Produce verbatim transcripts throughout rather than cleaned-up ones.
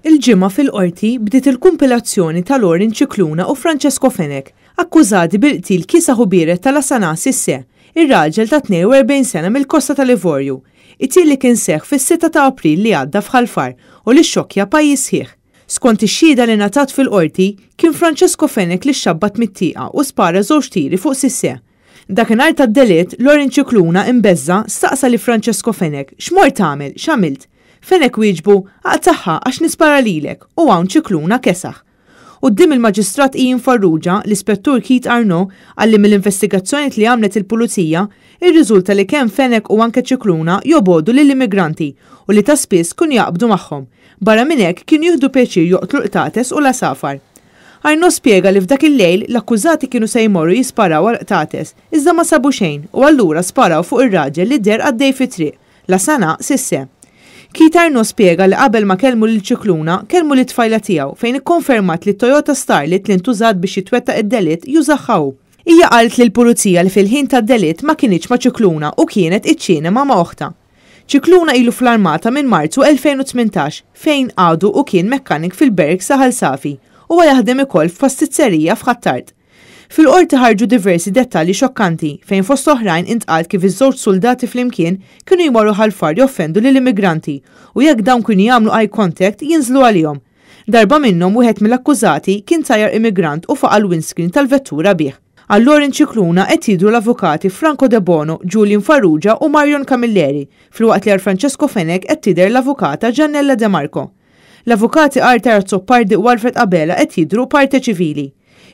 Il-Ġimgħa fil-Qorti bdiet il-kumpilazzjoni ta' Lorin Scicluna u Francesco Fenech, akkużati bil-qtil kiesaħ u biered ta' Lassana Cisse, ir-raġel ta' tnejn u erbgħin sena mill-Kosta tal-Ivorju. Qtil li kien seħħ fis-sitta ta' April li għadda f'Ħal Far u li xokja pajjiż sħiħ. Skont ix-xhieda li ngħatat fil-qorti, kien Francesco Fenech li xabbat mit-tieqa u spara żewġ tiri fuq Cisse. Dakinhar tad-delitt, Lorin Scicluna imbeżża' staqsa li Francesco Fenech: "X'mort tagħmel, x'għamilt?" Fenech wieġbu: "Aqtagħha għax nispara lilek", u hawn Scicluna kesaħ. Quddiem il-Maġistrat Ian Farrugia, l-Ispettur Keith Arnaud qal li mill-investigazzjoni li għamlet il-Pulizija, irriżulta li kemm Fenech u anke Scicluna jobogħdu lill-immigranti u li ta' spiss kienu jaqbdu magħhom. Barra minn hekk, kienu jieħdu pjaċir joqtlu qtates u l-għasafar. Arnaud spjega li f'dak il-lejl l-akkużati kienu se jmorru jisparaw għal qtates, iżda ma sabu xejn u allura sparaw fuq ir-raġel li deher għaddej fit-triq, Lassana Cisse. Keith Arnaud spjega li qabel ma kellmu lil Scicluna, kellmu lit-tfajla tiegħu, fejn ikkonfermat li Toyota Starlet li ntużat biex jitwettaq id-delitt jużaha hu. Hija qalet lill-pulizija li fil-ħin tad-delitt ma kinitx ma' Scicluna u kienet iċ-ċinema ma' oħtha. Scicluna ilu fl-armata minn Marzu elfejn u tmintax, fejn għadu u kien mekkanik fil-barracks ta' Ħal Safi u jaħdem ukoll f'pastizzerija f'Ħ'Attard. Fil-qorti ħarġu diversi dettalji xokkanti, fejn fost oħrajn intqal kif iż-żewġ soldati flimkien kienu jmorru Ħal Far joffendu lill-immigranti u jekk dawn kienu jagħmlu eye contact jinżlu għalihom. Darba minnhom, wieħed mill-akkużati kien tajjar immigrant u faqa' l-windscreen tal-vettura bih. Għal Lorin Scicluna qed jidhru l-avukati Franco De Bono, Julian Farrugia u Marion Camilleri, filwaqt li għal Francesco Fenech qed tidher l-avukata Giannella De Marco. L-avukati Arthur Azzopardi u Alfred Abela qed jidhru parte ċivili.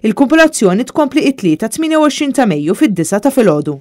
Il-kumpilazzjoni tkompli it-Tlieta tmienja u għoxrin ta' Mejju fid-disgħa ta' filgħodu.